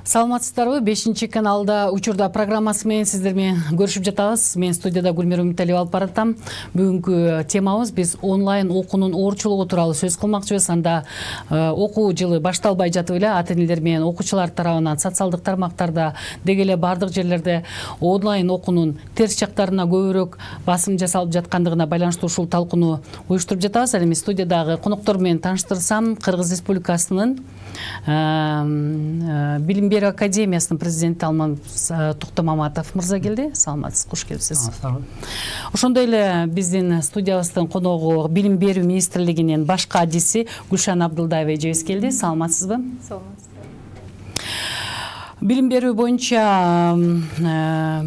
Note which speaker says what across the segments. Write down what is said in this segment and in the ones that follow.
Speaker 1: Саламатсыздарбы? 5-каналда учурда программасы менен сиздер менен көрүшүп жатабыз. Мен студияда Гүлмира Үмүталиева алып баратам. Бүгүнкү темабыз биз онлайн окуунун оорчулугу тууралуу сөз кылмакчыбыз. Анда окуу жылы башталбай жатып эле ата-энелер менен окуучулар тарабынан социалдык тармактарда деги эле бардык жерлерде онлайн окуунун терс жактарына көбүрөөк басым жасалып жаткандыгына байланыштуу ушул талкууну уюштуруп жатабыз. Эми студиядагы коноктор менен тааныштырсам, Кыргыз Республикасынын Билим берүү академиясынын президенти Алман Токтомаматов мырза келди. Саламатсыз, куш келипсиз. Ошондой эле биздин студиябыздын коногу Билим берүү министрлигинин баш кадиси Гүлшан Абдылдаева эжебиз келди. Саламатсызбы?
Speaker 2: Саламатсыз.
Speaker 1: Билим берүү боюнча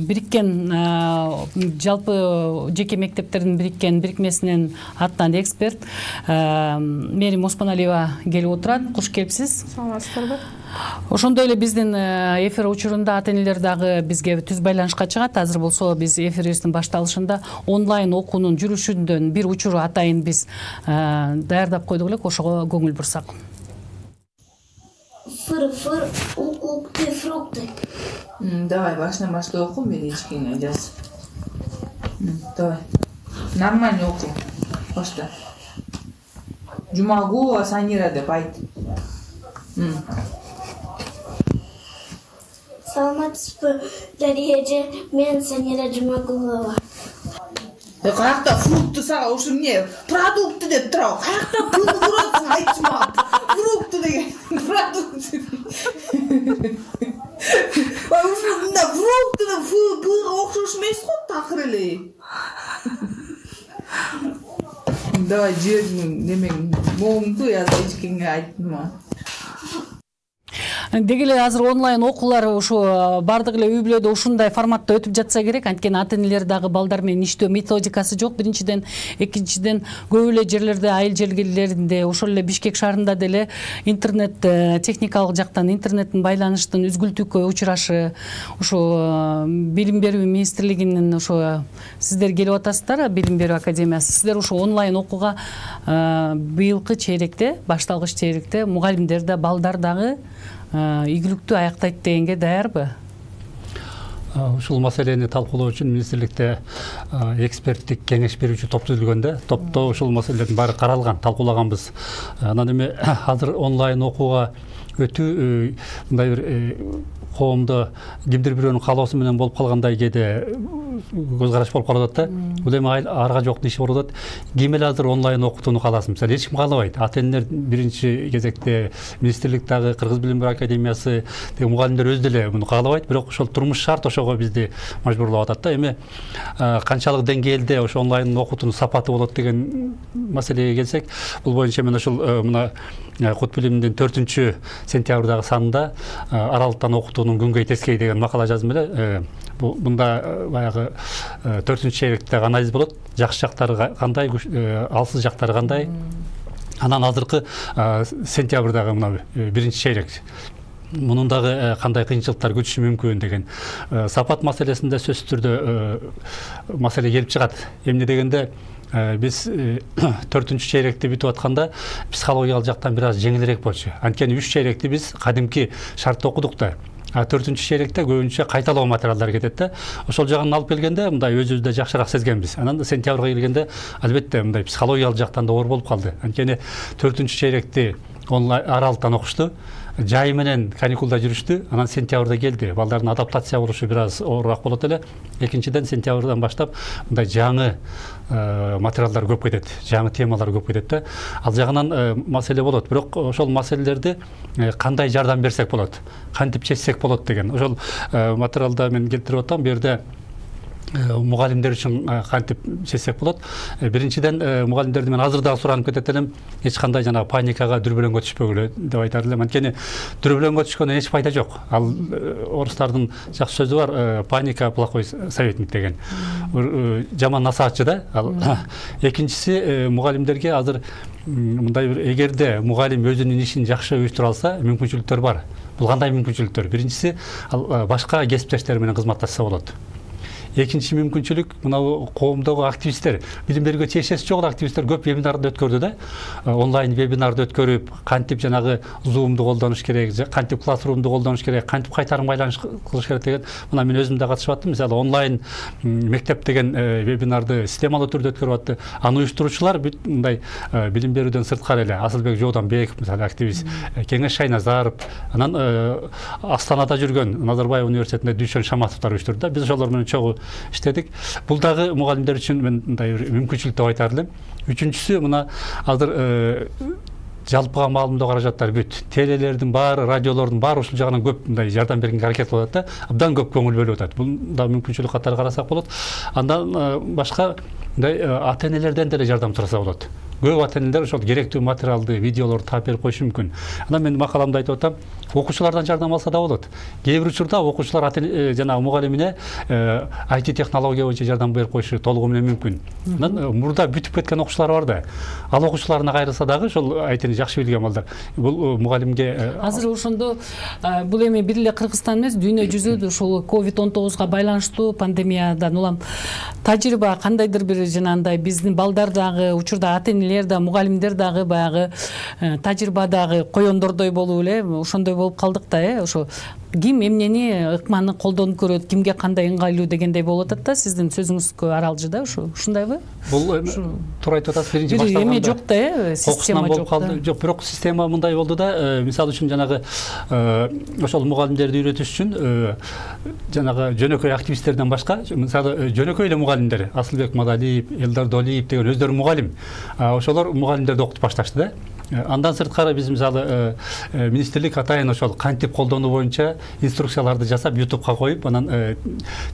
Speaker 1: бириккен жалпы жеке мектептердин бириккен бирикмесинин атынан эксперт Мерим Оспоналиева келип отурат. Куш келипсиз.
Speaker 2: Саламатсыздарбы?
Speaker 1: Ошондой эле биздин эфир учурунда ата-энелер дагы бизге түз байланышка чыгат. Азыр болсо биз эфирибиздин башталышында онлайн окуунун жүрүшүндөн бир учуру атайын биз даярдап койдук элек. Ошого көңүл бурсак.
Speaker 3: Фыр-фыр, ук-укты, фрукты.
Speaker 2: Давай, баштай оку, бери ичкиңе жаз. Давай. Нормально оку. Башта. Жумагулова Санира деп айт.
Speaker 3: Саламатсызбы, Дария эже, мен Санира Жумагулова.
Speaker 2: Каякта фрукты сага ушу эмне? Продукты деп тура. Каякта пулду көрөсүң, айтчымап. Фрукты деген продукты. Ушу мында фрукты да пулга окшош эмес го, такыр эле. Давай жердин немең моңду язып ичкиңе айттым.
Speaker 1: Деги эле азыр онлайн окуулар ушу бардык эле үй бүлөдө ушундай форматта өтүп жатса керек. Анткени ата-энелер дагы балдар менен иштөө методикасы жок. Биринчиден, экинчиден көп эле жерлерде, айыл жерлеринде, ошол эле Бишкек шаарында деле интернет техникалык жактан интернеттин байланыштын үзгүлтүүккө учурашы. Ушу Билим берүү министрлигинин ушу сиздер келип атасыздар, Билим берүү академиясы. Сиздер ушу онлайн окууга быйылкы чейректе, башталгыч чейректе мугалимдер да, балдар дагы ийгиликтүү аяктайт дегенге даярбы?
Speaker 4: Ушул маселени талкуулоо үчүн министрликте эксперттик кеңеш берүүчү топ түзүлгөндө, топто ушул маселелердин баары каралган, талкуулаганбыз. Анан эми азыр онлайн окууга өтүү мындай бир коомдо кимдир бирөөнүн каалоосу менен болуп калгандай кээде көз караш болуп калып атат да. Бул эми арга жок иши болуп атат. Ким эле азыр онлайн окутууну кааласын? Мисалы эч ким каалабайт. Ата-энелер биринчи кезекте, министрлик дагы, Кыргыз Билим берүү академиясы, мугалимдер өз деле муну каалабайт. Бирок ошол турмуш шарт ошого бизди мажбурлап атат да. Эми канчалык деңгээлде ошо онлайн окутуунун сапаты болот деген маселеге келсек, бул боюнча мен ушул мына Кут билимдин 4-сентябрдагы санында аралыктан окутуунун күнгөй тескей деген макала жаздым эле. Мында баягы 4-чейректеги анализ болот. Жакшы жактары кандай, алсыз жактары кандай. Анан азыркы сентябрдагы мына 1-чейрек мунун дагы кандай кыйынчылыктар күтүшү мүмкүн деген сапат маселесинде сөзсүз түрдө маселе келип чыгат. Эмне дегенде биз 4-чейректи бүтүп атканда психологиялык жактан бир аз жеңилирээк болчу. Анткени 3 чейректи биз кадимки шартта окудук да. 4-чейректе көбүнчө кайталоо материалдар кетет да. Ошол жагын алып келгенде мындай өзүбүздө жакшыраак сезгенбиз. Анан сентябрга келгенде албетте мындай психологиялык жактан да оор болуп калды. Анткени 4-чейректи онлайн аралыктан окушту. Жай менен каникулда жүрүштү. Анан сентябрда келди. Балдардын адаптация болушу бир аз оорураак болот эле. Экинчиден, сентябрдан баштап мындай жаңы материалдар көп кетет, жаңы темалар көп кетет да. Ал жагынан маселе болот. Бирок ошол маселелерди кандай жардам берсек болот, кантип чечсек болот деген. Ошол материалда мен келтирип атам. Бу жерде мугалимдер үчүн кантип чечсек болот. Биринчиден мугалимдерди мен азыр дагы суранып кетет элем. Эч кандай жана паникага, дүрбөлөңгө түшпөгүлө деп айтар элем. Анткени дүрбөлөңгө түшкөндөн эч пайда жок. Ал орустардын жакшы сөзү бар, паника плохой советник деген. Жаман насаатчы да. Ал экинчиси мугалимдерге азыр мындай бир эгерде мугалим өзүнүн ишин жакшы уюштура алса, мүмкүнчүлүктөр бар. Бул кандай мүмкүнчүлүктөр? Биринчиси ал башка кесиптештер менен кызматташса болот. экинчи мүмкүнчүлүк мына коомдогу активисттер, билим берүүгө тиешеси жок активисттер көп вебинарды өткөрдү да. Онлайн вебинарды өткөрүп, кантип жанагы Zoom'ду колдонуш керек, кантип Classroom'ду колдонуш керек, кантип кайтарым байланыш кылыш керек деген. Мына мен өзүм да катышып аттым. Мисалы онлайн мектеп деген вебинарды системалуу түрдө өткөрүп атты. Аны уюштуруучулар бүт мындай билим берүүдөн сырткары эле Асылбек Жооданбеков, мисалы активист, Кеңеш Шайназаров, анан Астанада жүргөн Назарбаев университетинде Дүйшөн Шаматовдор уюштурду да. Биз ошолор менен чогуу иштедик. Бул дагы мугалимдер үчүн мен мындай мүмкүнчүлүк деп айтар элем. Үчүнчүсү мына азыр жалпыга маалымдоо каражаттары бүт. Телелердин баары, радиолордун баары ушул жагынан көп мындай жардам бергенге аракет кылып атат да. Абдан көп көңүл бөлүп атат. Бул да мүмкүнчүлүк катары карасак болот. Андан башка мындай ата-энелерден деле жардам сураса болот. Көп ата-энелер ошол керектүү материалды, видеолорду таап берип коюшу мүмкүн. Анан мен макаламда айтып атам, окуучулардан жардам алса да болот. Кээ бир учурда окуучулар жанагы мугалимине IT технология боюнча жардам берип коюшу толугу менен мүмкүн. Анан мурда бүтүп кеткен окуучулар бар да. Ал окуучуларына кайрылса дагы ошол айтыны жакшы билген балдар. Бул мугалимге
Speaker 1: азыр ошондо бул эми бир эле Кыргызстан эмес, дүйнө жүзү ушул COVID-19 пандемиядан пандемиядан улам тажрыйба кандайдыр бир жанагындай биздин балдар дагы учурда ата-энелер да, мугалимдер дагы баягы тажрыйбадагы коёндордой болуп эле ошондой болуп калдык да, ошо ким эмнени ыкманы колдонуп көрөт, кимге кандай ыңгайлуу дегендей болуп атат да. Сиздин сөзүңүзгө аралжы да, ушундайбы?
Speaker 4: Бул туура айтып атасыз, биринчи башталганда
Speaker 1: эме жок да, система жок да.
Speaker 4: Жок, бирок система мындай болду да. Мисалы үчүн жанагы ошол мугалимдерди үйрөтүш үчүн жанагы жөнөкөй активисттерден башка, мисалы жөнөкөй эле мугалимдер, Асылбек Мадалиев, Элдар Долиев деген өздөрү мугалим. Ошолор мугалимдерди окутуп башташты да. Андан сырткары биз мисалы министрлик атайын ошол кантип колдонуу боюнча инструкцияларды жасап YouTubeга коюп, анан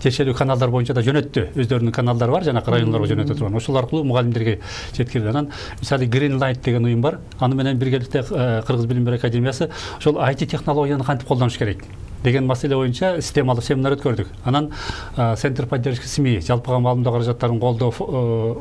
Speaker 4: тиешелүү каналдар боюнча да жөнөттү. Өздөрүнүн каналдары бар, жанагы райондорго жөнөтө турган. Ошол аркылуу мугалимдерге жеткирди. Анан мисалы Green Light деген уюм бар. Аны менен биргеликте Кыргыз билим берүү академиясы ошол IT технологияны кантип колдонуш керек деген маселе боюнча системалуу семинар өткөрдүк. Анан Центр поддержки СМИ, жалпыга маалымдоо каражаттарын колдоо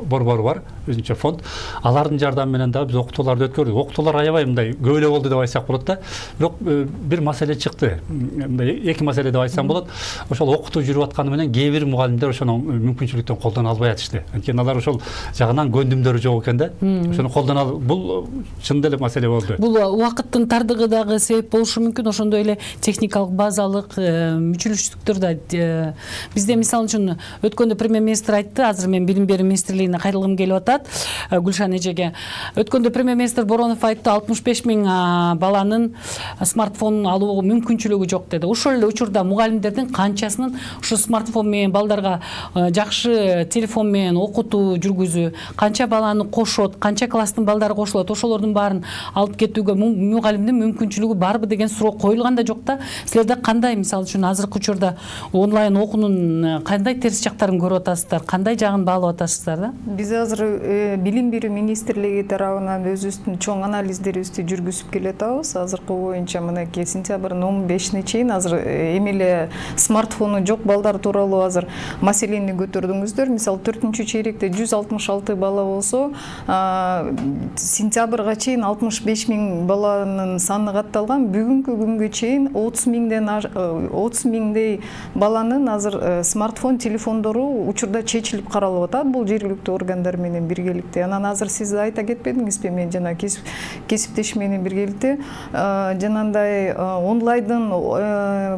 Speaker 4: борбору бар, өзүнчө фонд. Алардын жардамы менен да биз окутууларды өткөрдүк. Окутуулар аябай мындай көп эле болду деп айтсак болот да. Бирок бир маселе чыкты. Мындай эки маселе деп айтсам болот. Ошол окутуу жүрүп атканы менен кээ бир мугалимдер ошону мүмкүнчүлүктөн колдоно албай атышты. Анткени алар ошол жагынан көндүмдөрү жок экен да. Ошону колдоно бул чындап эле маселе болду.
Speaker 1: Бул убакыттын тардыгы дагы себеп болушу мүмкүн, ошондой эле техникалык базалык мүчүлүштүктөр да. Бизде мисалы үчүн өткөндө премьер-министр айтты, азыр мен билим берүү министрлигине кайрылгым келип атат, Гүлшан эжеге. Өткөндө премьер-министр Боронов айтты, 65 000 баланын смартфон алуу мүмкүнчүлүгү жок деди. Ошол эле учурда мугалимдердин канчасынын ушу смартфон менен балдарга жакшы телефон менен окутуу жүргүзүү, канча баланы кошот, канча класстын балдары кошулат, ошолордун баарын алып кетүүгө мугалимдин мүмкүнчүлүгү барбы деген суроо коюлган да жок да. Силерде кандай, мисалы үчүн азыркы учурда онлайн окуунун кандай терс жактарын көрүп атасыздар, кандай жагын баалап атасыздар да?
Speaker 5: Биз азыр билим берүү министрлиги тарабынан өзүбүздүн чоң анализдерибизди жүргүзүп келатабыз. Азыркы боюнча мынакей сентябрдын 15-ине чейин азыр эми эле смартфону жок балдар тууралуу азыр маселени көтөрдүңүздөр. Мисалы 4-чейректе 166 бала болсо, сентябрга чейин 65 000 баланын саны катталган. Бүгүнкү күнгө чейин 30 000дей баланын азыр смартфон телефондору учурда чечилип каралып атат. Бул жергиликтүү органдар менен биргеликте. Анан азыр сиз айта кетпедиңизби, мен жана кесиптешим менен биргеликте жанагындай онлайндын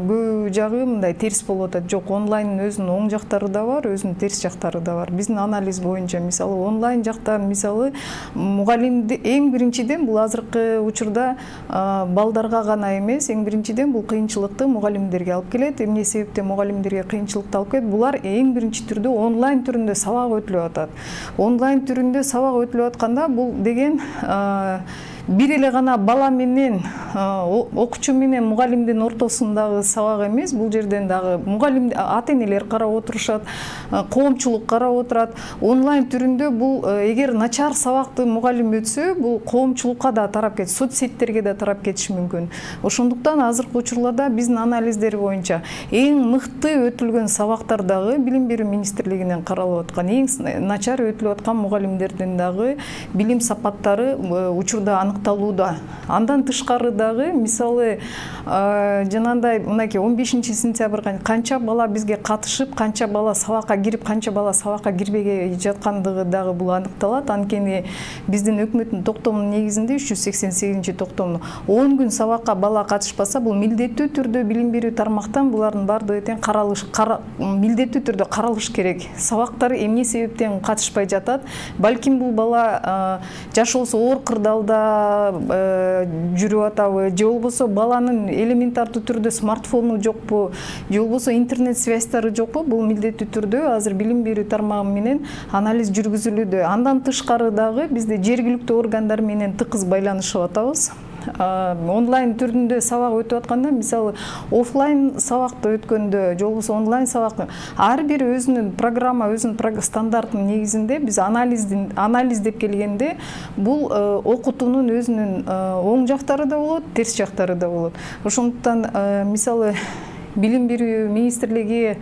Speaker 5: көб жагы мындай терс болуп атат. Жок, онлайндын өзүнүн оң жактары да бар, өзүнүн терс жактары да бар. Биздин анализ боюнча мисалы онлайн жакта мисалы мугалимди эң биринчиден бул азыркы учурда балдарга гана эмес, эң биринчиден бул кыйынчылыкты мугалимдерге алып келет. Эмне себептен мугалимдерге кыйынчылыкты алып келет? Булар эң биринчи түрдө онлайн түрүндө сабак өтүлүп атат. Онлайн түрүндө сабак өтүлүп атканда бул деген бир эле гана бала менен окуучу менен мугалимдин ортосундагы сабак эмес, бул жерден дагы мугалим ата-энелер карап отурушат, коомчулук карап отурат. Онлайн түрүндө бул эгер начар сабакты мугалим өтсө, бул коомчулукка да тарап кетет, соцсеттерге да тарап кетиши мүмкүн. Ошондуктан азыркы учурларда биздин анализдер боюнча эң мыкты өтүлгөн сабактар дагы билим берүү министрлигинен каралып аткан, эң начар өтүлүп аткан мугалимдердин дагы билим сапаттары учурда аныкталууда. Андан тышкары дагы мисалы жанагындай мынакей 15 сентябрга канча бала бизге катышып, канча бала сабакка кирип, канча бала сабакка кирбей жаткандыгы дагы бул аныкталат. Анткени биздин өкмөттүн токтомунун негизинде 388-токтому 10 күн сабакка бала катышпаса, бул милдеттүү түрдө билим берүү тармактан булардын бардыгы тең милдеттүү түрдө каралыш керек. Сабактар эмне себептен катышпай жатат? Балким бул бала жашоосу оор кырдаалда жүрүп атабы, же болбосо баланын элементардуу түрдө смартфону жокпу, же болбосо интернет связьтары жокпу? Бул милдеттүү түрдө азыр билим берүү тармагы менен анализ жүргүзүлүүдө. Андан тышкары дагы бизде жергиликтүү органдар менен тыкыз байланышып атабыз. Онлайн түрүндө сабак өтүп атканда, мисалы офлайн сабакты өткөндө, же болбосо онлайн сабак ар бир өзүнүн программа, өзүнүн стандартынын негизинде биз анализ деп келгенде бул окутуунун өзүнүн оң жактары да болот, терс жактары да болот. Ошондуктан мисалы билим берүү министрлиги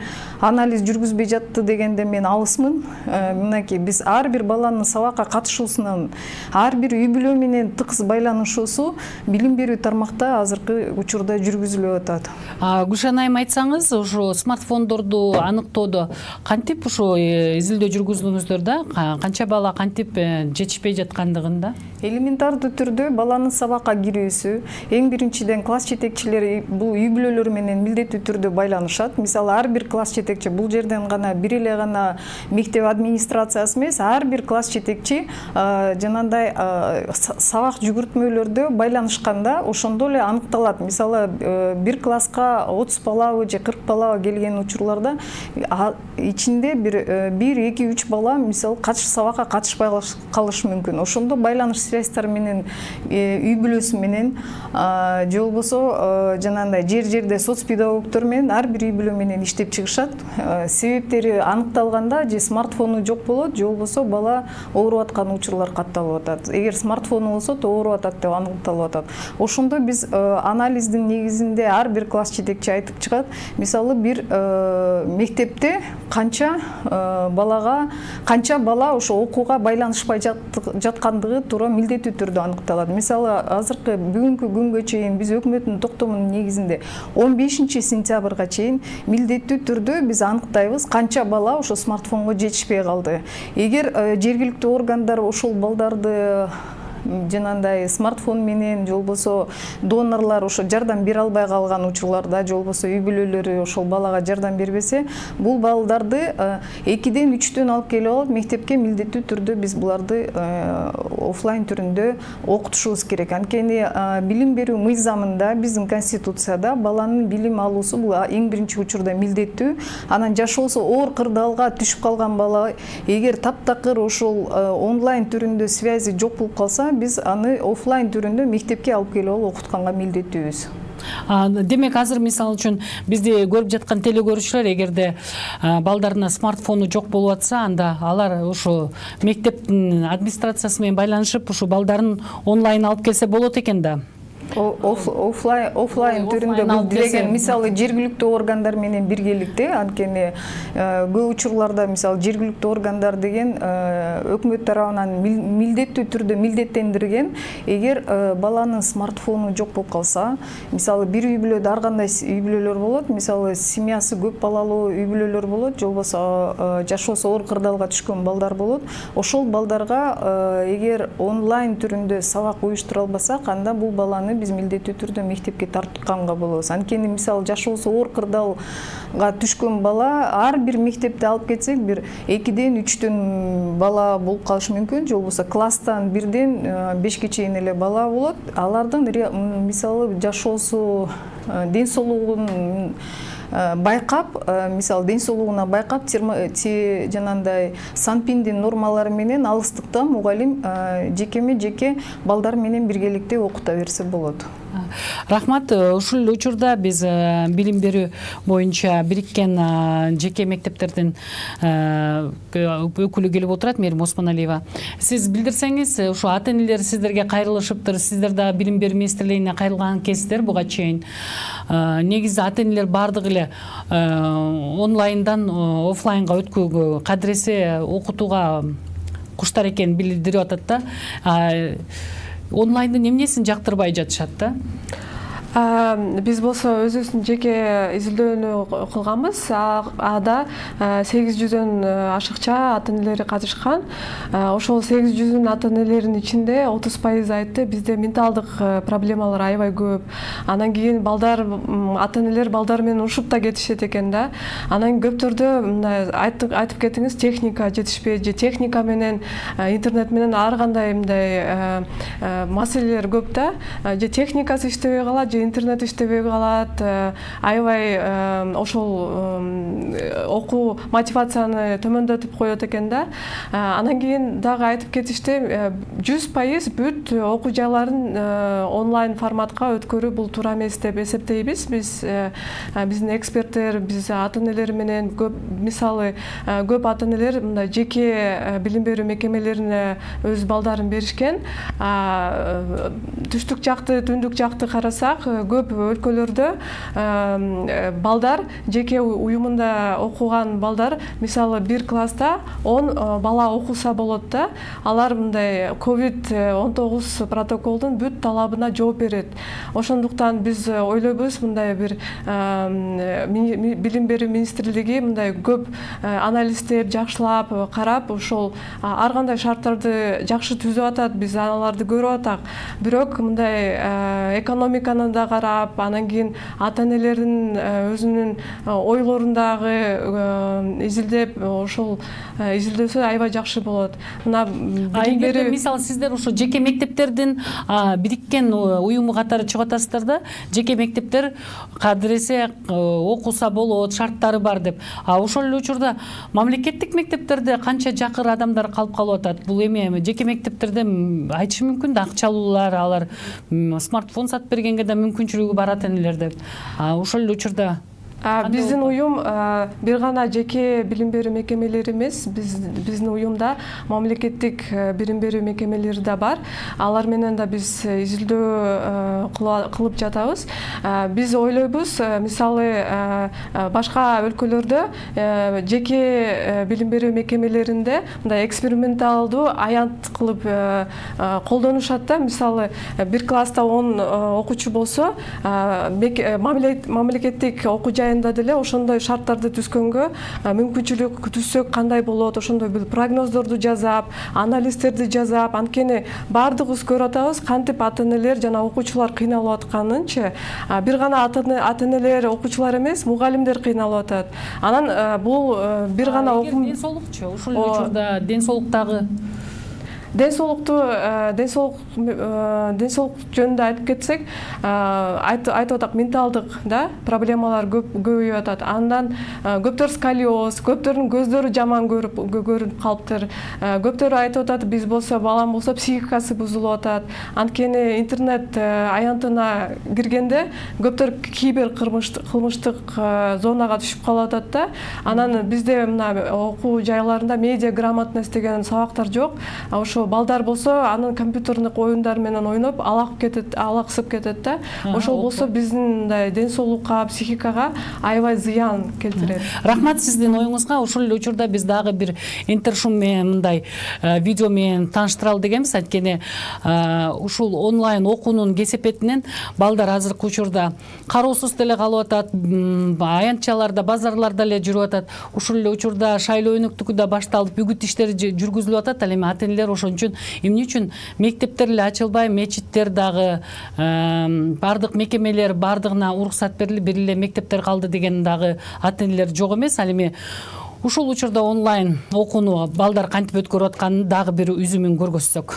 Speaker 5: анализ жүргүзбөй жатты дегенде мен алысмын. Мынакей биз ар бир баланын сабакка катышуусунан, ар бир үй бүлө менен тыкыз байланышуусу билим берүү тармакта азыркы учурда жүргүзүлүп атат.
Speaker 1: Гүлшан айым, айтсаңыз, ушу смартфондорду аныктоодо кантип ушу изилдөө жүргүздүңүздөр да? Канча бала кантип жетишпей жаткандыгында?
Speaker 5: Элементардуу түрдө баланын сабакка кирүүсү, эң биринчиден класс жетекчилери бул үй бүлөлөр менен милдеттүү түрдө байланышат. Мисалы ар бир класс жетекчи, бул жерден гана бир эле гана мектеп администрациясы эмес, ар бир класс жетекчи жанагындай сабак жүгүртмөлөрдө байланышканда ошондо эле аныкталат. Мисалы бир класска 30 балабы же 40 балабы келген учурларда ичинде бир 2-3 бала мисалы сабакка катышпай калышы мүмкүн. Ошондо байланыш связьтар менен үй бүлөсү менен же болбосо жанагындай жерде соцпедагогдор менен ар бир үй бүлө менен иштеп чыгышат. Себептери аныкталганда же смартфону жок болот, же болбосо бала ооруп аткан учурлар катталып атат. Эгер смартфону болсо ооруп атат деп аныкталып атат. Ошондо биз анализдин негизинде ар бир класс жетекчи айтып чыгат. Мисалы бир мектепте канча бала ошо окууга байланышпай жаткандыгы туура милдеттүү түрдө аныкталат. Мисалы азыркы бүгүнкү күнгө чейин биз өкмөттүн токтомунун негизинде 15 сентябрга чейин милдеттүү түрдө биз аныктайбыз канча бала ошо смартфонго жетишпей калды. Эгер жергиликтүү органдар ошол балдарды жанагындай смартфон менен же болбосо донорлор ошо жардам бере албай калган учурларда, же болбосо үй бүлөлөрү ошол балага жардам бербесе, бул балдарды 2-3 алып келип алып мектепке милдеттүү түрдө биз буларды офлайн түрүндө окутушубуз керек. Анткени билим берүү мыйзамында, биздин конституцияда баланын билим алуусу бул эң биринчи учурда милдеттүү. Анан жашоосу оор кырдаалга түшүп калган бала эгер таптакыр ошол онлайн түрүндө связи жок болуп калса, биз аны офлайн түрүндө мектепке алып келип алып окутканга милдеттүүбүз.
Speaker 1: Демек азыр мисалы үчүн бизди көрүп жаткан телекөрүүчүлөр эгерде балдарына смартфону жок болуп атса, анда алар ушу мектептин администрациясы менен байланышып ушу балдарын онлайн алып келсе болот экен да.
Speaker 5: Офлайн түрүндө бул деген мисалы жергиликтүү органдар менен биргеликте, анткени көп учурларда мисалы жергиликтүү органдар деген өкмөт тарабынан милдеттүү түрдө милдеттендирген. Эгер баланын смартфону жок болуп калса, мисалы бир үй бүлөдө ар кандай үй бүлөлөр болот, мисалы семьясы көп балалуу үй бүлөлөр болот, же болбосо жашоосу оор кырдаалга түшкөн балдар болот. Ошол балдарга эгер онлайн түрүндө сабак уюштура албасак, анда бул баланы биз милдеттүү түрдө мектепке тартканга болобуз. Анткени мисалы жашоосу оор кырдаалга түшкөн бала ар бир мектепте алып кетсек, бир 2-3 бала болуп калышы мүмкүн, же болбосо класстан 1-5 чейин эле бала болот. Алардын мисалы жашоосу, ден соолугун байкап, мисалы ден соолугуна байкап, жанагындай санпиндин нормалары менен алыстыкта мугалим жекеме-жеке балдар менен биргеликте окута берсе болот.
Speaker 1: Рахмат. Ушул учурда биз билим берүү боюнча бириккен жеке мектептердин өкүлү келип отурат, Мээрим Осмоналиева. Сиз билдирсеңиз, ушу ата-энелер сиздерге кайрылышыптыр, сиздер да билим берүү министрлигине кайрылган кездер буга чейин. Негизи ата-энелер бардыгы эле онлайндан офлайнга өткүүгө, кадыресе окутууга куштар экенин билдирип атат да. онлайндын эмнесин жактырбай жатышат да?
Speaker 6: Биз болсо өзүбүздүн жеке изилдөөнү кылганбыз. Ада 800дөн ашыкча ата-энелери катышкан. Ошол 800 ата-энелердин ичинде 30% айтты бизде менталдык проблемалар аябай көп. Анан кийин ата-энелер балдар менен ушуп да кетишет экен да. Анан көптөрдө мындай айтып кетиңиз, техника жетишпейт же техника менен интернет менен ар кандай мындай маселелер көп да. Же техникасы иштебей калат, же интернет иштебей калат, аябай ошол окуу мотивацияны төмөндөтүп коет экен да. Анан кийин дагы айтып кетишти, 100% бүт окуу жайларын онлайн форматка өткөрүү бул туура эмес деп эсептейбиз. Биздин эксперттер, биз ата-энелер менен мисалы көп ата-энелер мындай жеке билим берүү мекемелерине өз балдарын беришкен. Түштүк жакты, түндүк жакты карасак, көп өлкөлөрдө балдар жеке уюмунда окуган балдар, мисалы бир класста 10 бала окуса болот да. Алар мындай COVID-19 протоколдун бүт талабына жооп берет. Ошондуктан биз ойлойбуз, мындай бир билим берүү министрлиги мындай көп анализдеп, жакшылап карап, ошол ар кандай шарттарды жакшы түзүп атат, биз аларды көрүп атак. Бирок мындай экономиканы да карап, анан кийин ата-энелердин өзүнүн ойлорун дагы изилдеп, ошол изилдөөсө аябай жакшы болот. Мына билим берүү,
Speaker 1: мисалы сиздер ошо жеке мектептердин бириккен уюму катары чыгып атасыздар да, жеке мектептер кадыресе окуса болот, шарттары бар деп. Ошол эле учурда мамлекеттик мектептерде канча жакыр адамдар калып атат? Бул эми жеке мектептерде айтышы мүмкүн да, акчалуулар, алар смартфон сатып бергенге да мүмкүнчүлүгү бар ата-энелерде. Ошол эле учурда
Speaker 6: биздин уюм бир гана жеке билим берүү мекемелери эмес, биздин уюмда мамлекеттик билим берүү мекемелери да бар. Алар менен да биз изилдөө кылып жатабыз. Биз ойлойбуз, мисалы башка өлкөлөрдө жеке билим берүү мекемелеринде мындай эксперименталдуу аянт кылып колдонушат да. Мисалы бир класста 10 окуучу болсо, мамлекеттик окуу жайында деле ошондой шарттарды түзгөнгө мүмкүнчүлүк түзсөк кандай болот, ошондой бир прогноздорду жазап, анализдерди жазап, анткени баардыгыбыз көрүп атабыз кантип ата-энелер жана окуучулар кыйналып атканынчы. Бир гана ата-энелер, окуучулар эмес, мугалимдер кыйналып атат. Анан бул бир гана окуу
Speaker 1: ден соолукчу, ошол эле учурда ден соолуктагы
Speaker 6: ден соолук жөнүндө айтып кетсек, айтып атак, менталдык да проблемалар көбөйүп атат. Андан көптөр сколиоз, көптөрдүн көздөрү жаман көрүнүп калыптыр. Көптөр айтып атат, биз болсо, балам болсо психикасы бузулуп атат. Анткени интернет аянтына киргенде көптөр кибер кылмыштык зонага түшүп калып атат да. Анан бизде мына окуу жайларында медиа грамотность деген сабактар жок. Ошо балдар болсо анын компьютердик оюндар менен ойноп алаксып кетет да. Ошол болсо биздин мындай ден соолукка, психикага аябай зыян келтирет.
Speaker 1: Рахмат сиздин оюңузга. Ошол эле учурда биз дагы бир интершум менен мындай видео менен тааныштыралы дегенбиз. Анткени ушул онлайн окуунун кесепетинен балдар азыркы учурда кароосуз деле калып атат, аянтчаларда, базарларда эле жүрүп атат. Ушул эле учурда шайлоо өнөктүгү да башталып, үгүт иштери жүргүзүлүп атат. Ал эми ата-энелер ошон үчүн эмне үчүн мектептер эле ачылбай, мечиттер дагы, бардык мекемелер бардыгына уруксат берилип, бир эле мектептер калды деген дагы ата-энелер жок эмес. Ал эми ушул учурда онлайн окууну балдар кантип өткөрүп атканын дагы бир үзүмүн көргөзсөк.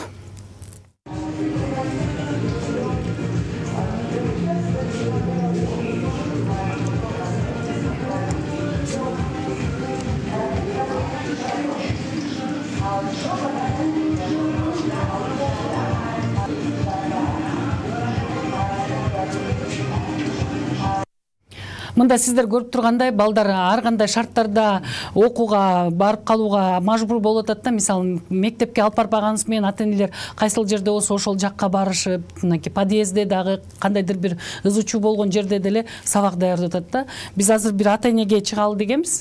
Speaker 1: Мында сиздер көрүп тургандай, балдар ар кандай шарттарда окууга барып калууга мажбур болуп атат да. Мисалы, мектепке алып барбаганыбыз менен ата-энелер кайсыл жерде болсо ошол жакка барышып, мынакей подъездде дагы кандайдыр бир ызы-чуу болгон жерде деле сабак даярдап атат да. Биз азыр бир ата-энеге чыгалы дегенбиз.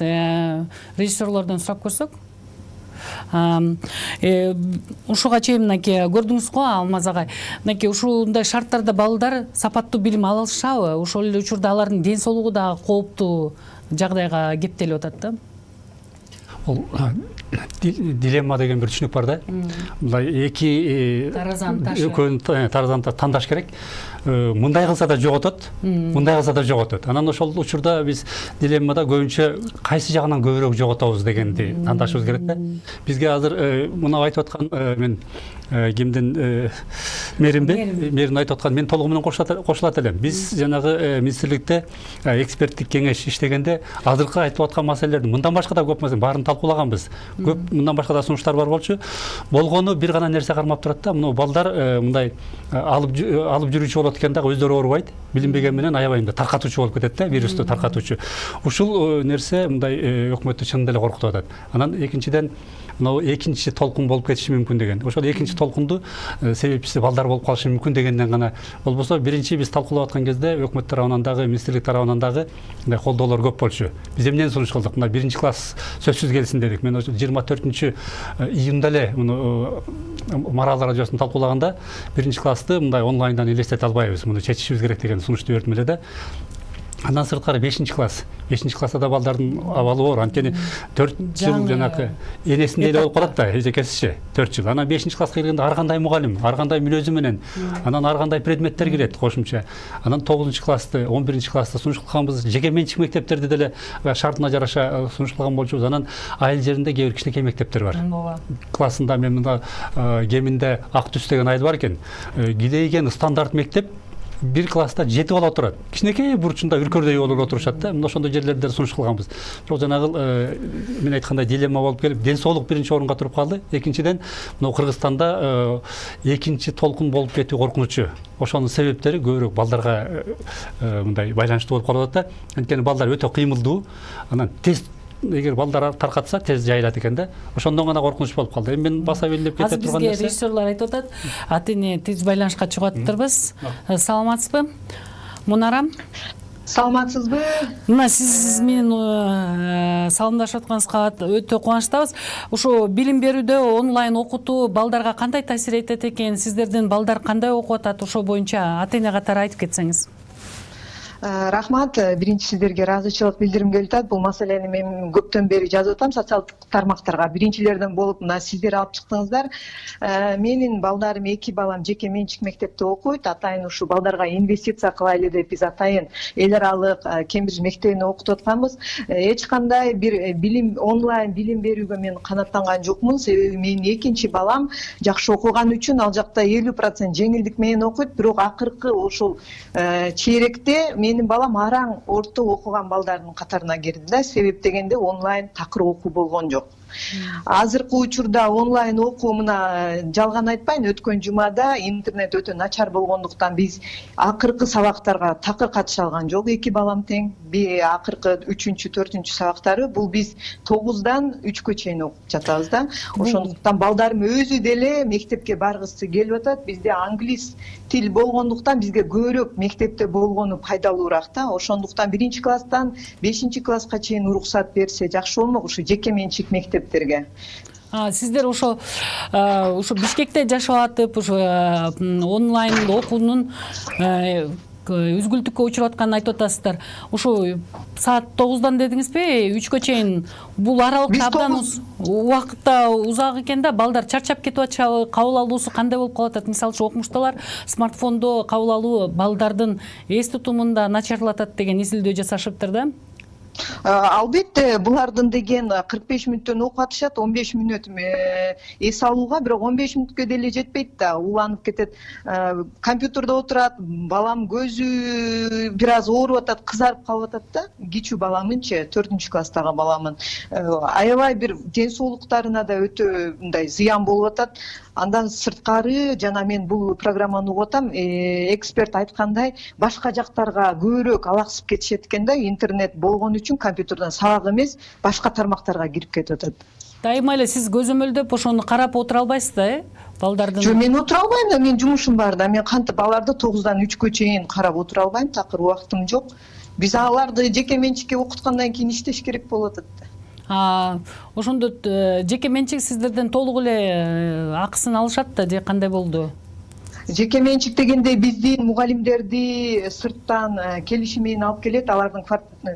Speaker 1: Режиссерлордон сурап көрсөк. Ушуга чейин мынакей көрдүңүз го Алмаз агай, мынакей ушундай шарттарда балдар сапаттуу билим ала алышабы? Ошол эле учурда алардын ден соолугу да кооптуу жагдайга кептелип атат да.
Speaker 4: Ол дилемма деген бир түшүнүк бар да. Мындай эки таразаны тандаш керек. Мындай кылса да жоготот, мындай кылса да жоготот. Анан ошол учурда биз дилеммада көбүнчө кайсы жагынан көбүрөөк жоготобуз дегенди тандашыбыз керек да. Бизге азыр мына айтып аткан мен кимдин мэрин айтып аткан мен толугу менен кошулат элем. Биз жанагы министрликте эксперттик кеңеш иштегенде азыркы айтып аткан маселелердин мындан башка да көп маселе баарын талкуулаганбыз. Көп мындан башка да сунуштар бар болчу. Болгону бир гана нерсе кармап турат да. Мына балдар мындай алып жүрүүчү болот экен дагы өздөрү оорубайт. Билинбеген менен аябай таркатуучу болуп кетет да, вирусту таркатуучу. Ушул нерсе мындай өкмөттү чындап эле коркутуп атат. Анан экинчиден мына экинчи толкун болуп кетиши мүмкүн деген. Ошол экинчи толкунду себепчиси балдар болуп калышы мүмкүн дегенден гана болбосо биринчи биз талкуулап аткан кезде өкмөт тарабынан дагы, министрлик тарабынан дагы мындай колдоолор көп болчу. Биз эмнени сунуш кылдык? Мына биринчи класс сөзсүз келсин дедик. Мен 24-июнда эле муну Марал радиосун талкуулаганда биринчи классты мындай онлайндан элестете албайбыз. Муну чечишибиз керек деген сунушту бердим эле да. Андан сырткары 5-класс класста да балдардын абалы оор. Анткени 4 жыл жанакы энесиндей эле болуп калат да, эжекесичи 4 жыл. Анан 5-класска келгенде ар кандай мугалим, ар кандай мүнөзү менен, анан ар кандай предметтер кирет кошумча. Анан 9-классты, 11-классты сунуш кылганбыз. Жеке менчик мектептерди деле шартына жараша сунуш кылган болчубуз. Анан айыл жеринде кээ бир кичинекей мектептер бар. Классында мен мында Кеминде Ак Түс деген айыл бар экен. Кидейген стандарт мектеп бир класста 7 бала отурат. Кичинекей бурчунда үркөрдөй болуп отурушат да. Мына ошондой жерлерде сунуш кылганбыз. Бирок жанагы мен айткандай дилемма болуп келип, ден соолук биринчи орунга туруп калды. Экинчиден, мына Кыргызстанда экинчи толкун болуп кетүү коркунучу. Ошонун себептери көбүрөөк балдарга мындай байланыштуу болуп калып атат да. Анткени балдар өтө кыймылдуу. Анан тез эгер балдар таркатса тез жайылат экен да. Ошондон гана коркунуч болуп калды. Эми мен баса белгилеп кете турган нерсе.
Speaker 1: Бизге режиссерлор айтып атат, ата-эне тез байланышка чыгып атырбыз. Саламатсызбы? Мунарам?
Speaker 7: Саламатсызбы?
Speaker 1: Мына сиз менен саламдашып атканыңызга өтө кубанычтабыз. Ушу билим берүүдө онлайн окутуу балдарга кандай таасир этет экен? Сиздердин балдар кандай окуп атат? Ошо боюнча ата-эне катары айтып кетсеңиз.
Speaker 7: Рахмат. Биринчи сиздерге ыраазычылык билдиргим келип атат. Бул маселени мен көптөн бери жазып атам социалдык тармактарга. Биринчилерден болуп мына сиздер алып чыктыңыздар. Менин балдарым 2 балам жеке менчик мектепте окуйт. Атайын ушу балдарга инвестиция кылайлы деп биз атайын эл аралык Кембридж мектебине окутуп атканбыз. Эч кандай бир билим онлайн билим берүүгө мен канааттанган жокмун. Себеби менин экинчи балам жакшы окуган үчүн ал жакта 50% жеңилдик менен окуйт. Бирок акыркы ошол чейректе менин балам араң орто окуган балдардын катарына кирди да. Себеп дегенде онлайн такыр окуу болгон жок. Азыркы учурда онлайн окуу мына жалган айтпайын, өткөн жумада интернет өтө начар болгондуктан биз акыркы сабактарга такыр катыша алган жок. 2 балам тең. Акыркы 3-4 сабактары бул биз 9-дан 3-кө чейин окуп жатабыз да. Ошондуктан балдарым өзү деле мектепке баргысы келип атат. Бизде англис тил болгондуктан бизге көбүрөөк мектепте болгону пайдалуураак да. Ошондуктан 1-класстан 5-класска чейин уруксат берсе жакшы болмок ушу жеке менчик мектептерге.
Speaker 1: Сиздер ошо Бишкекте жашап атып, ошо онлайн окуунун үзгүлтүккө учуруп атканын айтып атасыздар. Ошо саат 9-дан дедиңизби, 3-кө чейин бул аралыкта абдан убакытта узак экен да. Балдар чарчап кетип атышабы? Кабыл алуусу кандай болуп калып атат? Мисалы үчүн окумуштуулар смартфондо кабыл алуу балдардын эс тутумунда начарлатат деген изилдөө жасашыптыр да.
Speaker 7: Албетте, булардын деген 45 мүнөттөн окуп атышат, 15 мүнөт эс алууга, бирок 15 мүнөткө деле жетпейт да, уланып кетет. Компьютерде отурат, балам көзү бир аз ооруп атат, кызарып калып атат да. Кичүү баламынчы, 4-класстагы баламын. Аябай бир ден соолуктарына да өтө мындай зыян болуп атат. Андан сырткары жана мен бул программаны угуп атам, эксперт айткандай, башка жактарга көбүрөөк алаксып кетишет экен да, интернет болгон үчүн компьютерден сабак эмес, башка тармактарга кирип кетип атат.
Speaker 1: Дайыма эле сиз көзөмөлдөп ошону карап отура албайсыз да, балдардын?
Speaker 7: Жок, мен отура албайм да, менин жумушум бар да. Мен кантип баларды 9-дан 3-кө чейин карап отура албайм, такыр убактым жок. Биз аларды жеке менчикке окуткандан кийин иштеш керек болуп атат.
Speaker 1: Ошондо жеке менчик сиздерден толук эле акысын алышат да же кандай болду?
Speaker 7: Жеке менчик дегенде биздин мугалимдерди сырттан келишим менен алып келет, алардын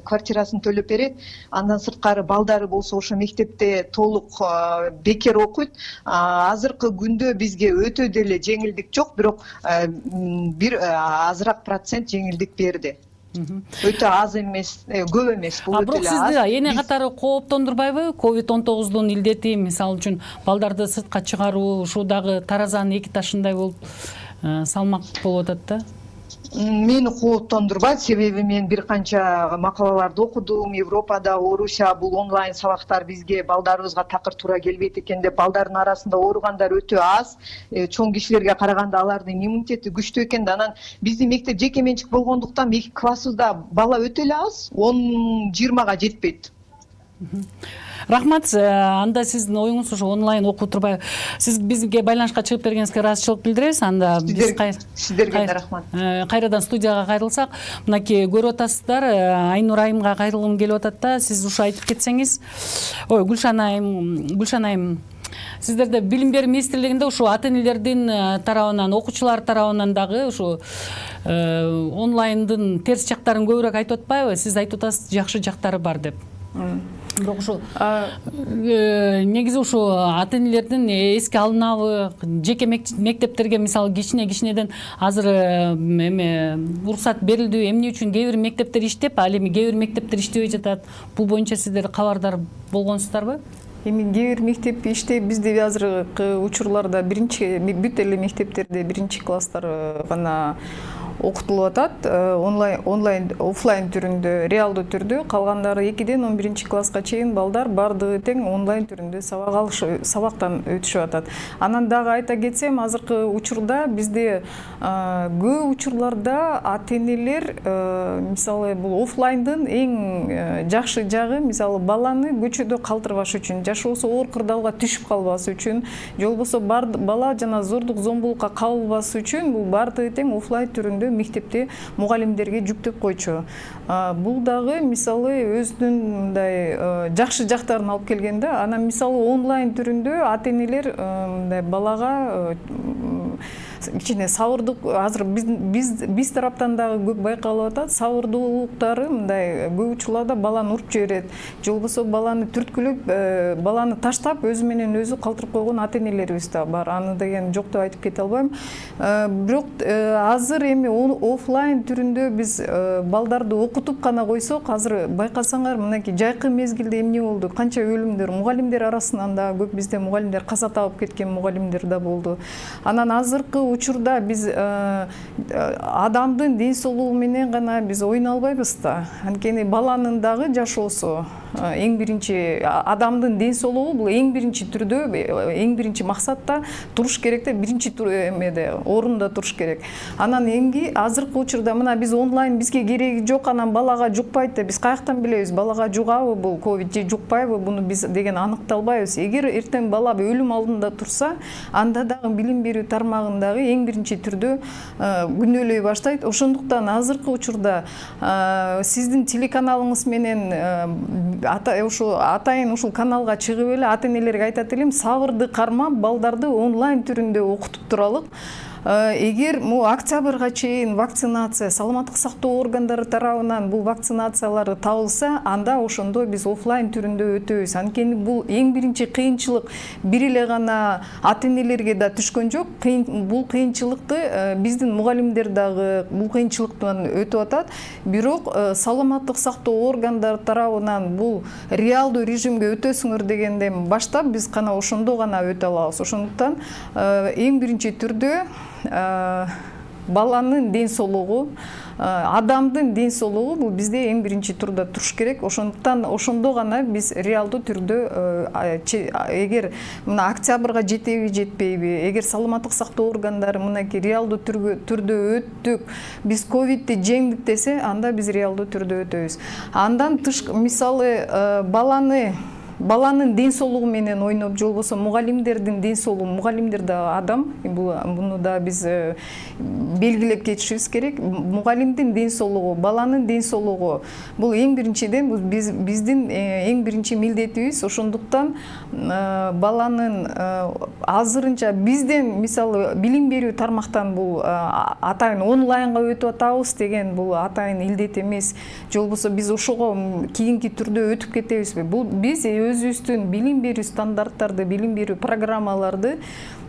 Speaker 7: квартирасын төлөп берет. Андан сырткары балдары болсо ошо мектепте толук бекер окуйт. Азыркы күндө бизге өтө деле жеңилдик жок, бирок бир азыраак процент жеңилдик берди. Өтө аз эмес, көп эмес, бул өтө эле аз.
Speaker 1: Бирок сизди эне катары кооптондурбайбы? COVID-19 илдети, мисалы үчүн балдарды сыртка чыгаруу, ушул дагы таразанын эки ташындай болуп салмак болуп атат да.
Speaker 7: Мени кооптондурбайт, себеби мен бир канча макалаларды окудум. Европада, Орусия бул онлайн сабактар бизге балдарыбызга такыр туура келбейт экен деп, балдардын арасында ооругандар өтө аз. Чоң кишилерге караганда алардын иммунитети күчтүү экен да. Анан биздин мектеп жеке менчик болгондуктан классыбызда бала өтө эле аз, 10-20га жетпейт.
Speaker 1: Рахмат. Анда сиздин оюңуз ушу онлайн окуп турбай, сиз бизге байланышка чыгып бергениңизге ыраазычылык билдиребиз. Анда биз
Speaker 7: сиздерге да рахмат.
Speaker 1: Кайрадан студияга кайрылсак, мынакей көрүп атасыздар, Айнур айымга кайрылгым келип атат да. Сиз ушу айтып кетсеңиз. Ой, Гүлшан айым, сиздерде билим берүү министрлигинде ушу ата-энелердин тарабынан, окуучулар тарабынан дагы ушу онлайндын терс жактарын көбүрөөк айтып атпайбы? Сиз айтып атасыз, жакшы жактары бар деп. Бирок ушу негизи ушу ата-энелердин эске алынабы, жеке мектептерге мисалы кичинеден азыр эме уруксат берилдиби, эмне үчүн кээ бир мектептер иштеп, ал эми кээ бир мектептер иштебей жатат. Бул боюнча сиздер кабардар болгонсуздарбы?
Speaker 5: Эми кээ бир мектеп иштеп, бизде азыркы учурларда бүт эле мектептерде биринчи класстар гана окутулуп атат, онлайн, офлайн түрүндө, реалдуу түрдө. Калгандары 2-ден 11 класска чейин балдар бардыгы тең онлайн түрүндө сабактан өтүшүп атат. Анан дагы айта кетсем, азыркы учурда бизде көп учурларда ата-энелер мисалы бул офлайндын эң жакшы жагы, мисалы баланы көчөдө калтырбаш үчүн, жашоосу оор кырдаалга түшүп калбас үчүн, же болбосо бала жана зордук зомбулукка кабылбас үчүн бул бардыгы тең офлайн түрүндө мектепте мугалимдерге жүктөп койчу. Бул дагы мисалы өзүнүн мындай жакшы жактарын алып келгенде, анан мисалы онлайн түрүндө ата-энелер мындай балага кичине сабырдык, азыр биз тараптан дагы көп байкалып атат, сабырдуулуктары мындай көп учурларда баланы уруп жиберет, же болбосо баланы түрткүлөп, баланы таштап өзү менен өзү калтырып койгон ата-энелерибиз да бар. Аны деген жок деп айтып кете албайм. Бирок азыр эми офлайн түрүндө биз балдарды окутуп гана койсок, азыр байкасаңар, мынакей жайкы мезгилде эмне болду? Канча өлүмдөр, мугалимдер арасынан да көп, бизде мугалимдер каза табып кеткен мугалимдер да болду. Анан азыркы учурда биз адамдын ден соолугу менен гана биз ойной албайбыз да. Анткени баланын дагы жашоосу эң биринчи, адамдын ден соолугу бул эң биринчи түрдө, эң биринчи максатта туруш керек да, биринчи эмеде, орунда туруш керек. Анан эмги азыркы учурда мына биз онлайн бизге кереги жок, анан балага жукпайт деп биз каяктан билебиз? Балага жугабы бул ковид же жукпайбы? Буну биз деген аныкталбайбыз. Эгер эртең бала өлүм алдында турса, анда дагы билим берүү тармагындагы эң биринчи түрдө күнөөлөй баштайт. Ошондуктан азыркы учурда сиздин телеканалыңыз менен атайын ушул каналга чыгып эле ата-энелерге айтат элем, сабырды кармап, балдарды онлайн түрүндө окутуп туралык. Эгер октябрга чейин вакцинация, саламаттык сактоо органдары тарабынан бул вакцинациялар табылса, анда ошондо биз офлайн түрүндө өтөбүз. Анткени бул эң биринчи кыйынчылык бир эле гана ата-энелерге да түшкөн жок. Бул кыйынчылыкты биздин мугалимдер дагы бул кыйынчылыктан өтүп атат. Бирок саламаттык сактоо органдары тарабынан бул реалдуу режимге өтөсүңөр дегенден баштап биз гана ошондо гана өтө алабыз. Ошондуктан эң биринчи түрдө баланын ден соолугу, адамдын ден соолугу бул бизде эң биринчи турда туруш керек. Ошондуктан ошондо гана биз реалдуу түрдө, эгер мына октябрга жетеби жетпейби, эгер саламаттык сактоо органдары мынакей реалдуу түрдө өттүк, биз ковидти жеңдик десе, анда биз реалдуу түрдө өтөбүз. Андан тыш, мисалы баланы баланын ден соолугу менен ойноп, же болбосо мугалимдердин ден соолугу, мугалимдер да адам, буну да биз белгилеп кетишибиз керек. Мугалимдин ден соолугу, баланын ден соолугу бул эң биринчиден биздин эң биринчи милдетибиз. Ошондуктан баланын азырынча бизден мисалы билим берүү тармактан бул атайын онлайнга өтүп атабыз деген бул атайын илдет эмес. Же болбосо биз ошого кийинки түрдө өтүп кетебизби? Бул биз өзүбүздүн билим берүү стандарттарды, билим берүү программаларды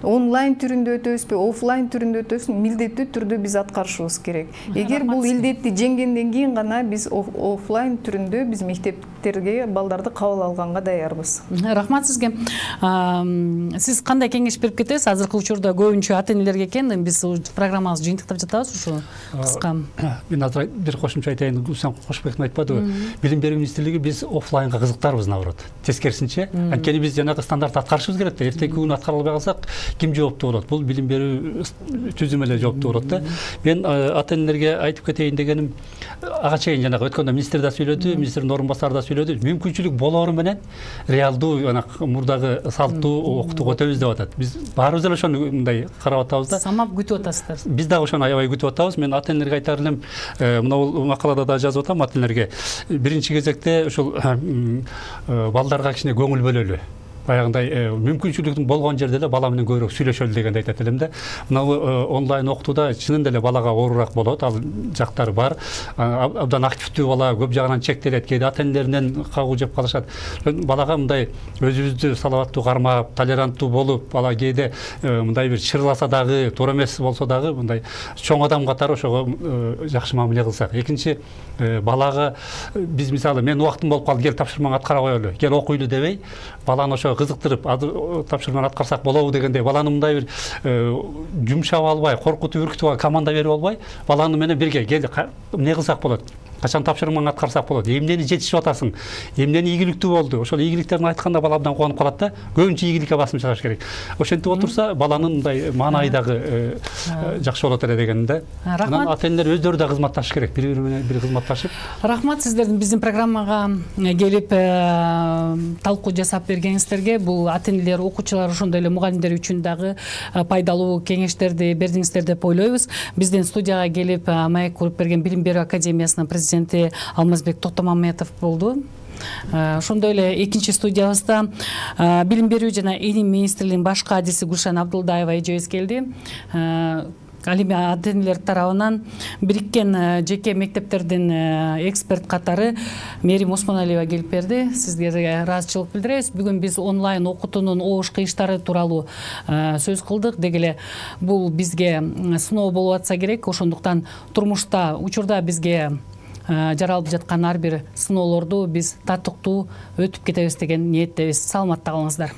Speaker 5: онлайн түрүндө өтөбүзбү, офлайн түрүндө өтөбүзбү, милдеттүү түрдө биз аткарышыбыз керек. Эгер бул илдетти жеңгенден кийин гана биз офлайн түрүндө биз мектептерге балдарды кабыл алганга даярбыз.
Speaker 1: Рахмат сизге. Сиз кандай кеңеш берип кетесиз? Азыркы учурда көбүнчө ата-энелерге экен, биз программабызды жыйынтыктап жатабыз ушу кыска.
Speaker 4: Мен азыр бир кошумча айтайын, Гүлсен Кошбековна айтпадыбы? Билим берүү министрлиги биз офлайнга кызыктарбыз, наоборот. Тескерисинче, анткени биз жанагы стандарт аткарышыбыз керек да. Эртеги күнү аткара албай калсак, ким жооптуу болот? Бул билим берүү түзүмү эле жооптуу болот да. Мен ата-энелерге айтып кетейин дегеним, ага чейин жанагы өткөндө министр да сүйлөдү, министрдин орун басары да сүйлөдү. Мүмкүнчүлүк болоору менен реалдуу мурдагы салтуу окутууга өтөбүз деп атат. Биз баарыбыз эле ошону мындай карап атабыз да.
Speaker 1: Самап күтүп атасыздар.
Speaker 4: Биз дагы ошону аябай күтүп атабыз. Мен ата-энелерге айтар элем, мына бул макалада да жазып атам ата-энелерге. Биринчи кезекте ушул балдарга кичине көңүл бөлөлү. Баягындай мүмкүнчүлүктүн болгон жерде эле бала менен көбүрөөк сүйлөшөлү дегенди айтат элем да. Мына онлайн окутууда чынында эле балага оорураак болот, ал жактары бар. Абдан активдүү бала көп жагынан чектелет, кээде ата-энелеринен кагуу жеп калышат. Балага мындай өзүбүздү салаваттуу кармап, толеранттуу болуп, бала кээде мындай бир чырласа дагы, туура эмес болсо дагы мындай чоң адам катары ошого жакшы мамиле кылсак. Экинчи, балага биз мисалы мен убактым болуп калды, кел тапшырмаңды аткара коелу, кел окуйлу дебей, баланы ошо кызыктырып, тапшырманы аткарсак болобу дегендей, баланы мындай бир жумшап албай, коркутуп үркүтүп команда берип албай, баланы менен бирге кел эмне кылсак болот, качан тапшырмаңды аткарсак болот, эмнени жетишип атасың, эмнени ийгиликтүү болду, ошол ийгиликтерин айтканда бала абдан кубанып калат да. Көбүнчө ийгиликке басым чыгыш керек. Ошентип отурса, баланын мындай маанайы дагы жакшы болот эле дегенде. Анан ата-энелер өздөрү да кызматташыш керек, бири-бири менен бири кызматташып.
Speaker 1: Рахмат сиздердин биздин программага келип талкуу жасап бергениңиздерге. Бул ата-энелер, окуучулар, ошондой эле мугалимдер үчүн дагы пайдалуу кеңештерди бердиңиздер деп ойлойбуз. Биздин студияга келип маек куруп берген Билим берүү академиясынын президенти Алмазбек Токтомаметов болду. Ошондой эле экинчи студиябызда Билим берүү жана илим министрлигинин баш кадиси Гүлшан Абдылдаева эжебиз келди. Ал эми ата-энелер тарабынан бириккен жеке мектептердин эксперт катары Мерим Осмоналиева келип берди. Сизге ыраазычылык билдиребиз. Бүгүн биз онлайн окутуунун обуш кыйыштары тууралуу сөз кылдык. Деги эле бул бизге сыноо болуп атса керек. Ошондуктан турмушта учурда бизге жаралып жаткан ар бир сыноолорду биз татыктуу өтүп кетебиз деген ниеттебиз. Саламатта калыңыздар.